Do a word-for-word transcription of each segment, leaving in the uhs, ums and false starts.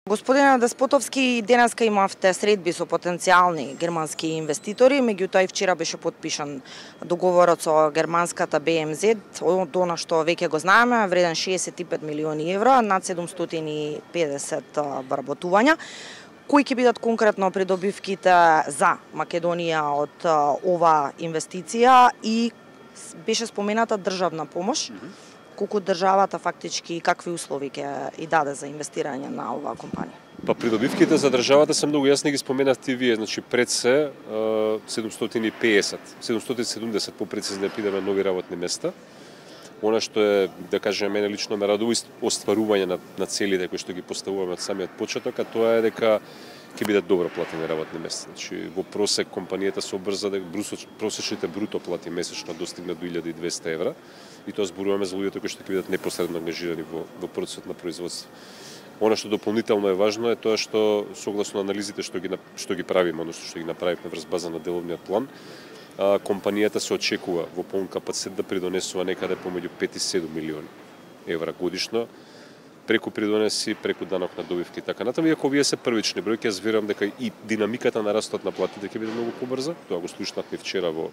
Господине Деспотовски, денеска имавте средби со потенцијални германски инвеститори, меѓутоа и вчера беше подпишан договорот со германската Б М З, од она што веќе го знаеме, вреден шеесет и пет милиони евра, над седумстотини и педесет вработувања. Кои ќе бидат конкретно придобивките за Македонија од ова инвестиција и беше спомената државна помош? Mm -hmm. Колку државата фактички и какви услови ќе и даде за инвестирање на оваа компанија? Па придобивките за државата се многу јасни, ги споменавте вие, значи пред се седумстотини и педесет, седумстотини и седумдесет попрецизно пидеме нови работни места. Она што е, да кажем, мене лично ме радува остварување на, на целите кои што ги поставуваме од самиот почеток, а тоа е дека ќе бидат добро платени работни места. Значи во просек компанијата се обрза дека просечните бруто плати месечно достигнат до илјада и двесте евра, и тоа зборуваме за луѓето кои што ќе бидат непосредно ангажирани во, во процесот на производство. Она што дополнително е важно е тоа што согласно анализите што ги што ги правиме, односно што ги направивме врз база на деловниот план, а, компанијата се очекува во полн капацитет да придонесува некаде помеѓу пет и седум милиони евра годишно, преку придонеси, преку данок на добивки и така натаму. Иако вие се првични бројки, јас верувам дека и динамиката на растот на платите ќе биде многу побрза. Тоа го слушнавме вчера во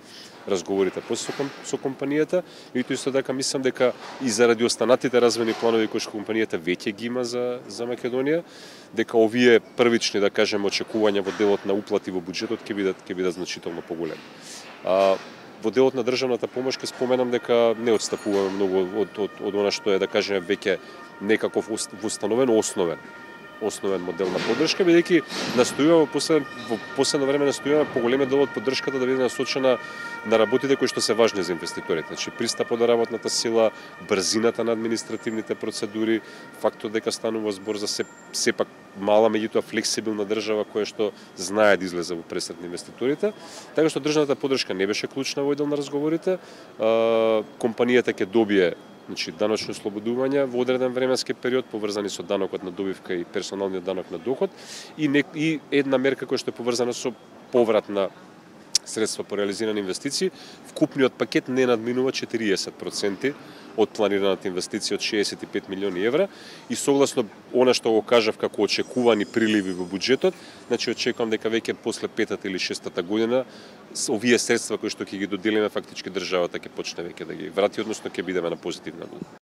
разговорите со, со компанијата. И тоа исто така мислам дека и заради останатите развојни планови кои што компанијата веќе ги има за за Македонија, дека овие првични, да кажеме, очекувања во делот на уплати во буџетот ќе бидат ќе бидат значително поголеми. А во делот на државната помош ќе споменам дека не отстапуваме многу од од од она што е, да кажеме, веќе некаков установен основен основен модел на поддршка, бидејќи настојуваме во, во последно време настојуваме поголемиот дел од поддршката да биде насочена на работите кои што се важни за инвеститорите. Значи пристапот до работната сила, брзината на административните процедури, фактот дека станува збор за се сепак мала, меѓутоа флексибилна држава која што знае да излезе во пресред на инвеститорите. Така што државната поддршка не беше клучна во дел на разговорите. Компанијата ќе добие, значи, даночно слободување во одреден временски период поврзани со данокот на добивка и персоналниот данок на доход и, не, и една мерка која што е поврзана со поврат на средства по реализирани инвестиции. Вкупниот пакет не надминува четириесет проценти од планираната инвестиција од шеесет и пет милиони евра и согласно она што го кажав како очекувани приливи во буџетот, значи очекувам дека веќе после петата или шестата година овие средства кои што ќе ги доделиме фактички државата ќе почне веќе да ги врати, односно ќе бидеме на позитивна нота.